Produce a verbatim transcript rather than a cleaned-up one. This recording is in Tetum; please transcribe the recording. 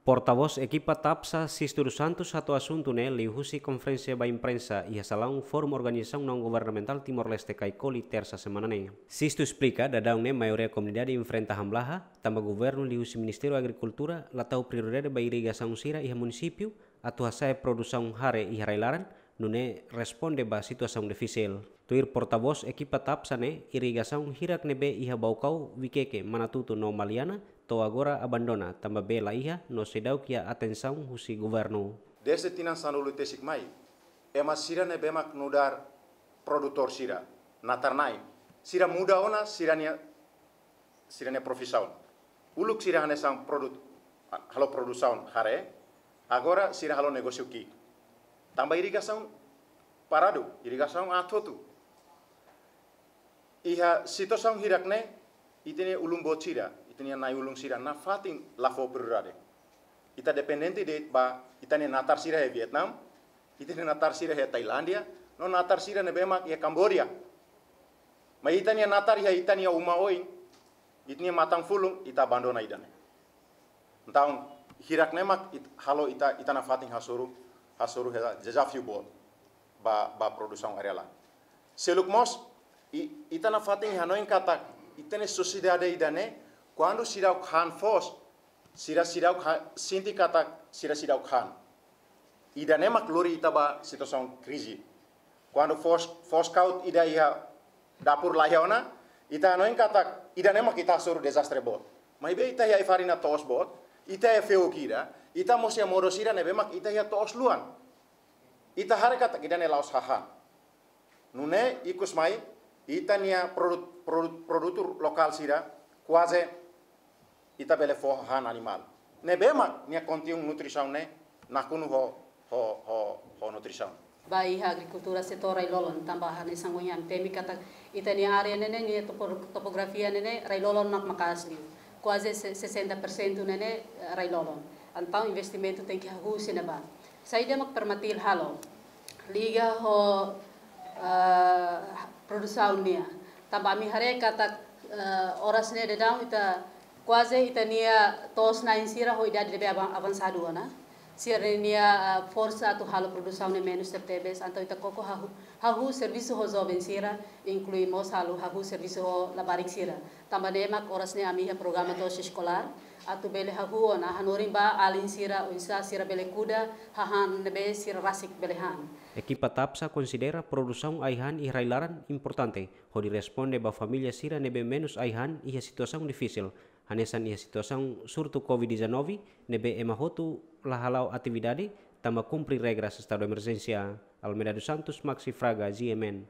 Portavós ekipa TAPSA, Sisto dos Santos, hato'o asuntu ne'e liuhusi konferénsia ba imprensa iha salaun Forum Organizasaun Naun Governamentál Timor-Leste, Kaikoli, Tersa semana ne'e. Sisto esplika, daudaun ne'e maioria komunidade enfrenta hamlaha, tanba governu liuhusi Ministériu Agrikultura la tau prioridade ba irrigasaun sira iha munisípiu, atu hasa'e produsaun hare iha rai-laran, nune'e responde ba situasaun difisil. Tuir portavós ekipa TAPSA ne'e, irrigasaun hirak ne'ebé iha Baucau, Viqueque, Manatuto no Maliana, to'o agora abandona, tanba bee la iha no seidauk iha atensaun husi governu. Dezde tinan sanulu-resin-tolu mai, ema sira ne'ebé mak nu'udar produtór sira, natar-na'in, sira muda ona sira-nia, sira-nia profisaun. Uluk sira hanesan produt, halo produsaun hare, agora sira halo negósiu ki'ik. Tanba irrigasaun paradu, irrigasaun aat hotu. Iha situasaun hirak ne'e, ita-nia ulun-boot sira, ita-nia na'i-ulun sira, nafatin la fó prioridade. Ita dependente de'it ba ita-nia natar sira iha Vietnam, ita-nia natar sira iha Tailándia, no natar sira ne'ebé mak iha Kamboja. Maibé ita-nia natar iha ita-nia uma oin, ita-nia matan-fulun, ita abandona ida-ne'e. Entaun, hirak ne'e mak it-, halo ita, ita nafatin hasoru, hasoru hela dezafiu boot ba, ba produsaun agríkola. Seluk mós, i-, ita nafatin hanoin katak, ita-nia sosiedade ida-ne'e, kuandu seidauk han foos, sira seidauk ha-, sente katak, sira seidauk han. Ida-ne'e mak lori ita ba situasaun krize. Kuandu foos, foos kaut ida iha dapur la iha ona, ita hanoin katak, ida-ne'e mak ita hasoru dezastre boot. Maibé ita iha ai-farina to'os boot, ita iha feuk ida, ita mós iha modo sira ne'ebé mak ita iha to'os luan. Ita haree katak ida-ne'e la'ós hahán. Nune'e ikus mai, ita-nia produt-, produt-, produtu lokál sira, kuaze ita bele fó hahán animál. Ne'ebé mak nia konteúdu nutrisaun ne'e nakonu ho, ho, ho, ho nutrisaun. Ba iha agrikultura setór rai-lolon, tanba hanesan ohin ami temi katak ita-nia área ne'e ne'e nia topo-, topografia ne'e ne'e rai-lolon mak maka'as liu. Kuaze se-, sesenta por sentu ne'e ne'e, eh, rai-lolon. Entaun investimentu tenke hahú husi ne'ebá. Saida mak Permatil halo liga ho, eh, produsaun nian. Tanba ami haree katak, eh, oras ne'e daudaun ita kuaze ita-nia to'os-na'in sira ho idade ne'ebé avan-, avansadu ona. Sira-nia, eh, forsa atu halo produsaun ne'e menus tebetebes, entaun ita koko hahú, hahú servisu ho joven sira, inklui mós halo hahú servisu ho labarik sira. Tanba ne'e mak oras ne'e ami iha programa to'os eskolár, atu bele hahú ona hanorin ba alin sira, oinsá sira bele kuda hahán ne'ebé sira rasik bele han. Ekipa TAPSA konsidera produsaun ai-han iha rai-laran importante, hodi responde ba família sira ne'ebé menus ai-han iha situasaun difisil, hanesan iha situasaun surtu covid dezanove, ne'ebé ema hotu la hala'o atividade, tanba kumpre regras estadu emerjénsia. Almeida dos Santos, Maxi Fraga, G M N.